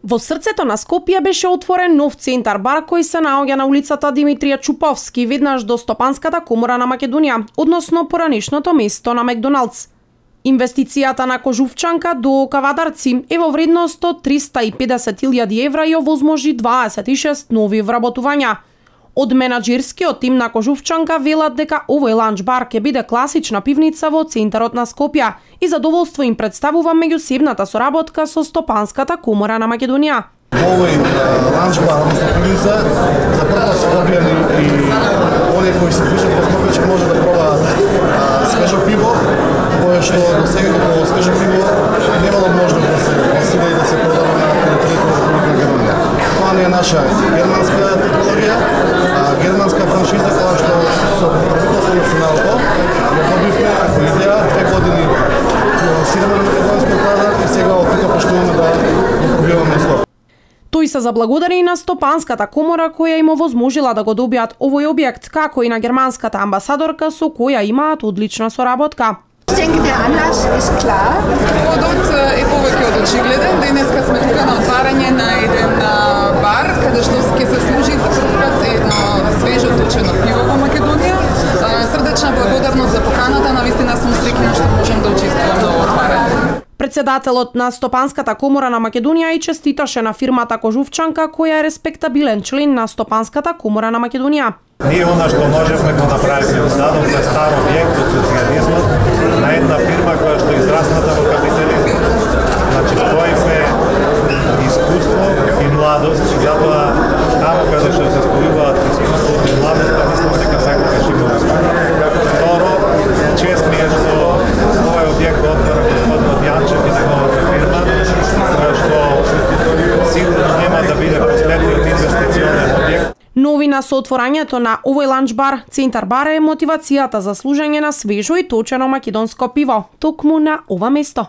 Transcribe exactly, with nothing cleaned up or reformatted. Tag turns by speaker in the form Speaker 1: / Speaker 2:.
Speaker 1: Во срцето на Скопје беше отворен нов центар бар кој се наоѓа на улицата Димитрија Чуповски, веднаш до Стопанската комора на Македонија, односно поранешното место на Макдоналдс. Инвестицијата на Кожувчанка до Кавадарци е во вредност од триста и педесет илјади евра и овозможи дваесет и шест нови вработувања. Од менаџерскиот тим на Кожувчанка велат дека овој ланч бар ќе биде класична пивница во центарот на Скопје и задоволство им представува меѓусебната соработка со Стопанската комора на Македонија.
Speaker 2: Овој ланч бар, односно пивница, за прв пат Скопјани и оние кои се движат по Скопје ќе може да пробаат свежо пиво, кое што до сега како свежо пиво немало можност да се пласира и да се продава на територијата на Република Македонија. Тоа не е наша германска технологија, германска франшиза која што со правителството на Сеналото ја добивме како идеја две години финансираме на македонскиот пазар и сега оттука почнуваме да го пробиваме Скопје.
Speaker 1: Тој се заблагодари и на Стопанската комора која им овозможила да го добијат овој објект, како и на германската амбасадорка со која имаат одлична соработка.
Speaker 3: Ich denke, der Anlass ist klar.
Speaker 4: Поводот е повеќе од очигледен. Денеска сме тука на отварање на еден бар, каде што ќе се служи за прв пат едно свежо точено пиво во Македонија. Срдечна благодарност за поканата, навистина сум среќна што можам да учествувам на отварање.
Speaker 1: Председателот на Стопанската комора на Македонија и честиташе на фирмата Кожувчанка, која е респектабилен член на Стопанската комора на Македонија.
Speaker 5: Ние она што можевме го направиме, дадовме стар објект од социјализмот на една фирма која што израсната во капитализмот. Значи, стоиме искуство и младост, затоа таму каде што се спојуваат искуството и младоста, мислам дека секогаш има успех. Второ, чест ми е што овој објект го отвара господин Јанчев и неговата фирма, која што сигурно нема да биде последниот инвестиционен објект.
Speaker 1: Новина со отворањето на овој ланч бар, центар бар е мотивацијата за служење на свежо и точено македонско пиво, токму на ова место.